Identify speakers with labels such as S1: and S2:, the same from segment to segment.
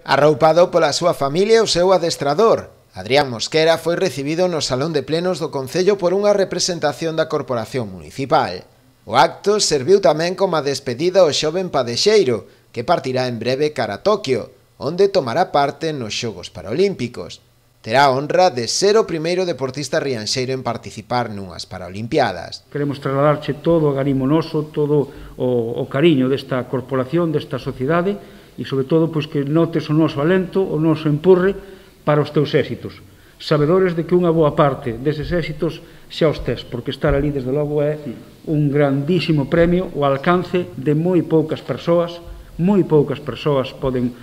S1: Arroupado pola súa familia e o seu adestrador, Adrián Mosquera foi recibido no Salón de Plenos do Concello por unha representación da Corporación Municipal. O acto serviu tamén como a despedida ao xoven padexeiro, que partirá en breve cara a Toquio, onde tomará parte nos Xogos Paralímpicos. Terá a honra de ser o primeiro deportista rianxeiro en participar nunhas Paralimpiadas.
S2: Queremos trasladarche todo o garimo noso, todo o cariño desta corporación, desta sociedade, e, sobre todo, pois, que notes o noso alento, o noso empurre para os teus éxitos. Sabedores de que unha boa parte deses éxitos xa os tes, porque estar ali, desde logo, é un grandísimo premio ao alcance de moi poucas persoas poden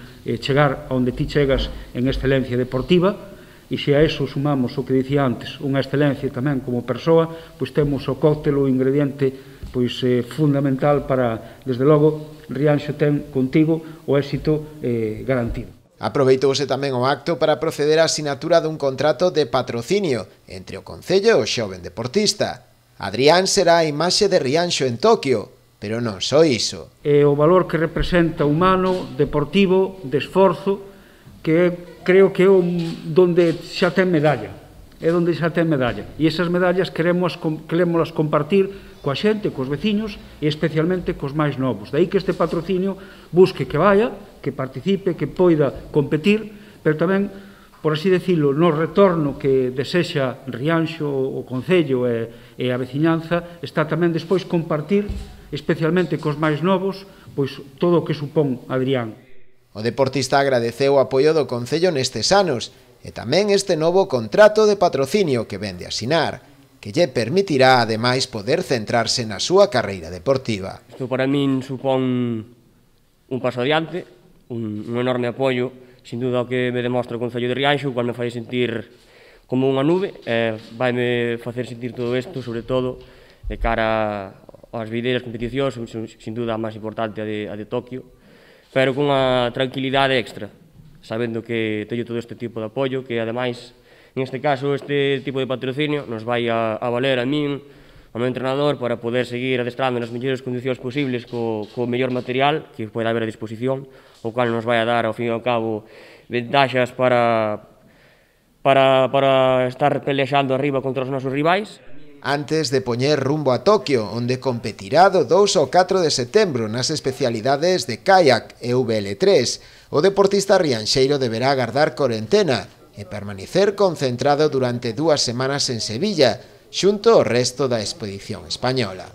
S2: chegar onde ti chegas en excelencia deportiva, e se a eso sumamos o que dicía antes, unha excelencia tamén como persoa, pois temos o cóctel, o ingrediente pois fundamental para, desde logo, Rianxo ten contigo o éxito garantido.
S1: Aproveitouse tamén o acto para proceder á sinatura dun contrato de patrocinio entre o Concello e o xoven deportista. Adrián será a imaxe de Rianxo en Toquio, pero non só iso.
S2: É o valor que representa humano, deportivo, de esforzo, que creo que é donde xa ten medalla. É onde xa ten medalla. E esas medallas queremos compartir coa xente, cos veciños e especialmente cos máis novos. Daí que este patrocinio busque que vaya, que participe, que poida competir, pero tamén, por así decirlo, no retorno que desexa Rianxo, o Concello e a veciñanza, está tamén despois compartir, especialmente cos máis novos, pois todo o que supón Adrián.
S1: O deportista agradeceu o apoio do Concello nestes anos e tamén este novo contrato de patrocinio que vende a asinar, que lle permitirá, ademais, poder centrarse na súa carreira deportiva.
S3: Isto para min supón un paso adiante, un enorme apoio, sin duda o que me demostra o Concello de Rianxo, cual me fai sentir como unha nube, vaime facer sentir todo isto, sobre todo, de cara ás videiras competicións, sin duda a máis importante a de Toquio, pero con unha tranquilidade extra, sabendo que teño todo este tipo de apoio, que ademais, neste caso, este tipo de patrocinio nos vai a valer a min, ao meu entrenador, para poder seguir adestrando nas mellores condicións posibles co mellor material que pode haber a disposición, o cual nos vai a dar, ao fin e ao cabo, ventaxas para estar pelexando arriba contra os nosos rivais.
S1: Antes de poñer rumbo a Toquio, onde competirá do 2 ao 4 de setembro nas especialidades de kayak e VL3, o deportista rianxeiro deberá agardar corentena e permanecer concentrado durante 2 semanas en Sevilla, xunto ao resto da expedición española.